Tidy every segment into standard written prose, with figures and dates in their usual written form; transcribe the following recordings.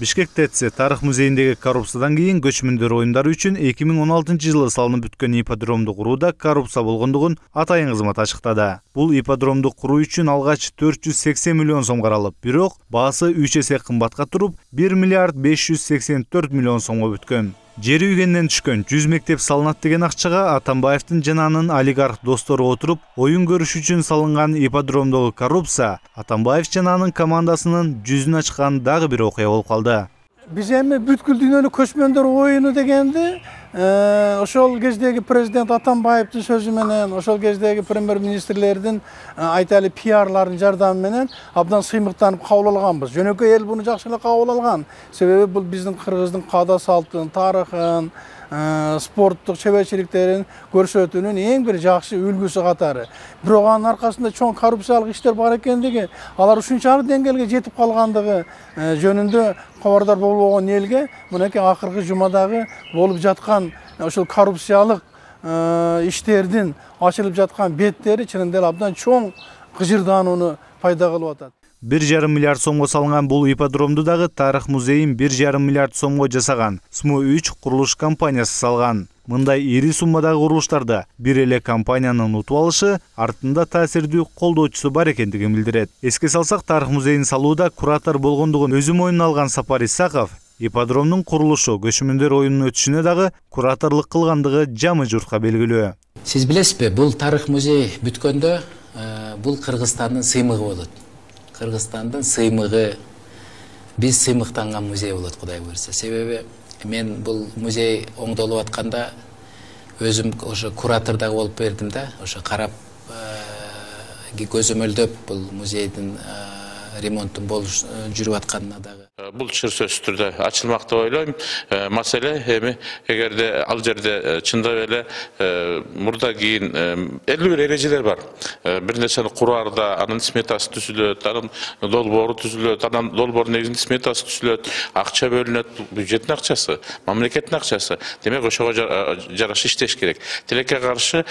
Бишкек ТЭЦ тарых музейиндеги коррупциядан кийин көчмөндөр оюндары үчүн 2016-жылы салынып бүткөн ипподромду курууда коррупция болгондугун атайын кызмат ачыктады. Бул ипподромду куруу үчүн алгач 480 миллион сом каралып, бирок баасы 3 эсе кымбатка туруп 1 миллиард 584 миллион сомго бүткөн. Жери үйгенден түшкөн 100 мектеп салынат деген акчага Атамбаевдин жана анын олигарх достору отуруп, оюн көрүш үчүн салынган ипподромдогу коррупция Атамбаев жана анын командасынын жүзүн ачкан дагы бир окуя болуп калды. Биз эми бүткүл дүйнөлүк көчмөндөр оюну дегенди ошол кездеги президент Атамбаевдин сөзү менен, ошол кездеги премьер-министрлердин айталы пиарлардын жардамы менен абдан сыймыктанып кабыл алганбыз. Жөнөкөй эл буну жакшы эле кабыл алган. Себеби бул биздин кыргыздын каада салтын, тарыхын, спорттук чеберчиликтерин көрсөтүүнүн эң бир жакшы үлгүсү катары. Бирок анын аркасында чоң коррупциялык иштер бар экендиги, алар ушунчалык деңгээлге жетип калгандыгы жөнүндө кабардар болбогон элге мынакей акыркы жумадагы болуп жаткан ошол коррупциялык иштердин ачылып жаткан беттери чынында эле абдан чоң кыжырдаанууну пайда кылып атат. 1,5 миллиард сомго салынган бул ипподромду дагы тарых музейин 1,5 миллиард сомго жасаган СМУ-3 курулуш компаниясы салган. Мындай ири суммадагы курулуштарда бир эле компаниянын утуп алышы артында таасирдүү колдоочусу бар экендигин билдирет. Эске салсак, тарых музейин салууда куратор болгондугун өзү мойнуна алган Сапар Исаков ипподромдун курулушу көчмөндөр оюнунун өтүшүнө дагы кураторлук кылгандыгы жамы журтка белгилүү. Сиз билесизби, бул тарых музей бүткөндө бул Кыргызстандын сыймыгы болот. Кыргызстандын сыймыгы, биз сыймыктанган музей болот, Кудай буйрса. Себеби мен бул музей оңдолуп атканда өзүм ошо куратор дагы болуп бердим да, ошо карап көзөмөлдөп бул музейдин ремонттун болуш жүрүп атканына дагы. Бул сөзсүз түрдө ачылмак деп ойлойм. Маселе эми эгерде ал жерде чындап эле мурда кийин 51 эрежелер бар. Бир нерсени кураарда анын сметасы түзүлөт, анын долбоору түзүлөт, анын долбоордун негизинде сметасы түзүлөт, акча бөлүнөт, бюджеттин акчасы, мамлекеттин акчасы. Демек ошого жараша иштеш керек. Тилекке каршы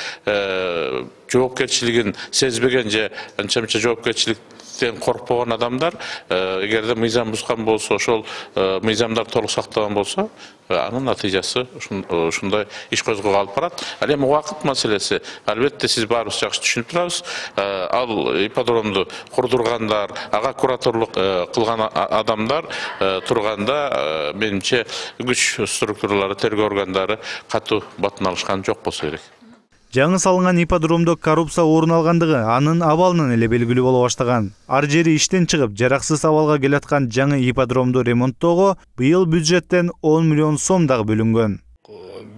жоопкерчилигин сезбеген же анча-мынча жоопкерчилик коркпогон адамдар эгерде мыйзам бузган болсо, ошол мыйзамдар толук сакталган болсо, анын натыйжасы ушундай иш козгоого алып барат. Ал эми убакыт маселеси. Албетте сиз баарыбыз жакшы түшүнүп турабыз. Ал ипподромду курдургандар, ага кураторлук кылган адамдар турганда менимче күч структуралары, тергөө органдары катуу батын алышкан жок болсо керек. Жаңы салынган ипподромдо коррупция орун алгандыгы анын абалынан эле белгилүү боло баштаган. Ар жери иштен чыгып, жараксыз абалга келаткан жаңы ипподромду ремонттоого быйыл бюджеттен 10 миллион сом дагы бөлүнгөн.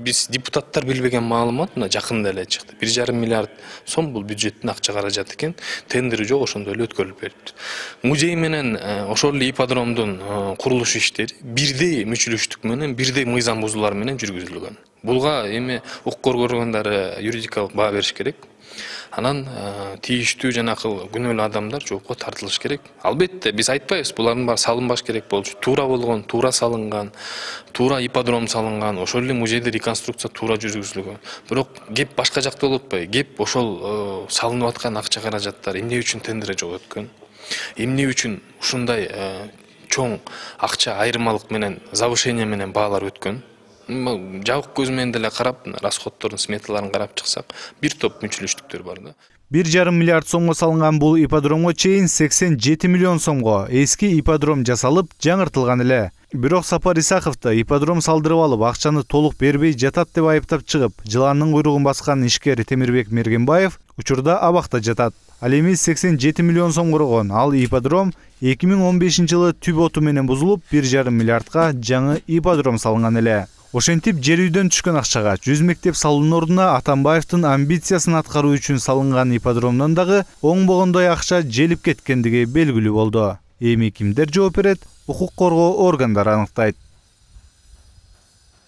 Биз депутаттар билбеген маалымат мына жакында эле чыкты. 1,5 миллиард сом бул бюджеттин акча каражаты экен. Тендери жок, ошондой эле өткөрүлүп бериптир. Музей менен ошол эле ипподромдун курулуш иштери бирдей мүчүлүштүк менен, бирдей мыйзам бузуулар менен жүргүзүлгөн. Булга эми укук органдары юридикалык баа бериш керек. Анан тийиштүү жанакы күнөөлүү адамдар жоопко тартылыш керек. Албетте биз айтпайбыз, булардын баары салынбаш керек болчу. Туура болгон, туура салынган, туура ипподром салынган, ошол эле музейде реконструкция туура жүргүзүлгөн. Бирок кеп башка жакта болуп атпайбы? Кеп ошол салынып аткан акча каражаттар эмне үчүн тендер жок өткөн? Эмне үчүн ушундай чоң акча айырмалык менен, завышение менен баалар өткөн? Жабык көз менен деле карап, расходдордун сметаларын карап чыксак, бир топ мүчүлүштүктөр бар да. 1,5 миллиард сомго салынган бул ипподромго чейин 87 миллион сомго эски ипподром жасалып, жаңыртылган эле. Бирок Сапар Исаковду ипподром салдырып алып, акчаны толук бербей жатат деп айыптап чыгып, жыландын куйругун баскан ишкер Темирбек Мергенбаев учурда абакта жатат. Ал эми 87 миллион сом коргон ал ипподром 2015-жылы түп оту менен бузулуп, 1,5 миллиардга жаңы ипподром салынган эле. Ошентип жер үйдөн түшкөн акчага 100 мектеп салуунун ордуна Атамбаевдин амбициясын аткаруу үчүн салынган ипподромдон дагы оңбогондой акча желип кеткендиги белгилүү болду. Эми кимдер жооп берет? Укук коргоо органдары аныктайт.